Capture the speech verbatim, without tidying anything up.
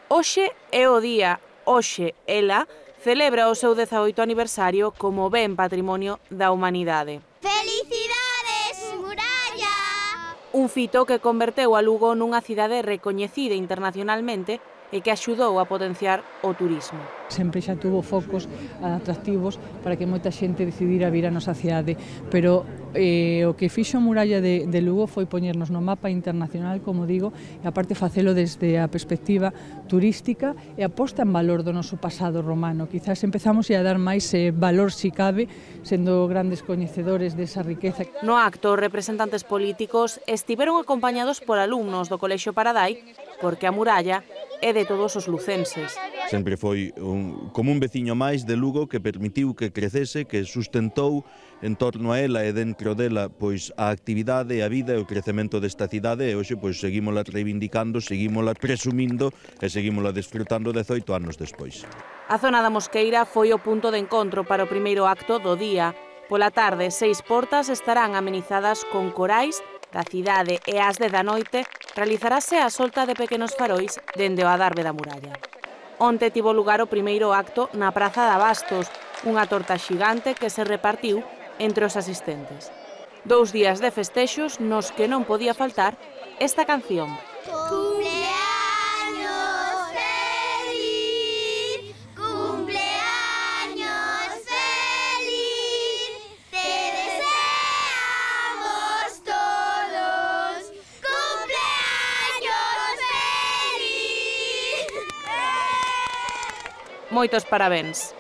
Hoxe é o día, hoxe ela celebra o seu dezaoito aniversario como ben patrimonio da humanidade. Felicidades, Muralla! Un fito que converteu a Lugo nunha cidade recoñecida internacionalmente e que axudou a potenciar o turismo. Sempre xa tuvo focos atractivos para que moita xente decidira vir a nosa cidade, pero eh, o que fixo a muralla de, de Lugo foi poñernos no mapa internacional, como digo, e aparte facelo desde a perspectiva turística e a posta en valor do noso pasado romano. Quizás empezamos a dar máis eh, valor, si cabe, sendo grandes coñecedores desa riqueza. No acto, os representantes políticos estiveron acompañados por alumnos do Colexio Paradai, porque a muralla é de todos os lucenses. Sempre foi un, como un veciño máis de Lugo que permitiu que crecese, que sustentou en torno a ela e dentro dela pois a actividade, a vida e o crecemento desta cidade, e hoxe pois seguímola reivindicando, seguímola presumindo e seguímola desfrutando dezoito anos despois. A zona da Mosqueira foi o punto de encontro para o primeiro acto do día. Pola tarde, seis portas estarán amenizadas con corais da cidade e ás dez da noite realizarase a solta de pequenos farois dende o adarve da muralla. Onte tivo lugar o primeiro acto na Praza de Abastos, unha torta xigante que se repartiu entre os asistentes. Dous días de festexos nos que non podía faltar esta canción. Cumpleaños feliz, cumpleaños feliz, te deseamos todos, cumpleaños feliz. Moitos parabéns.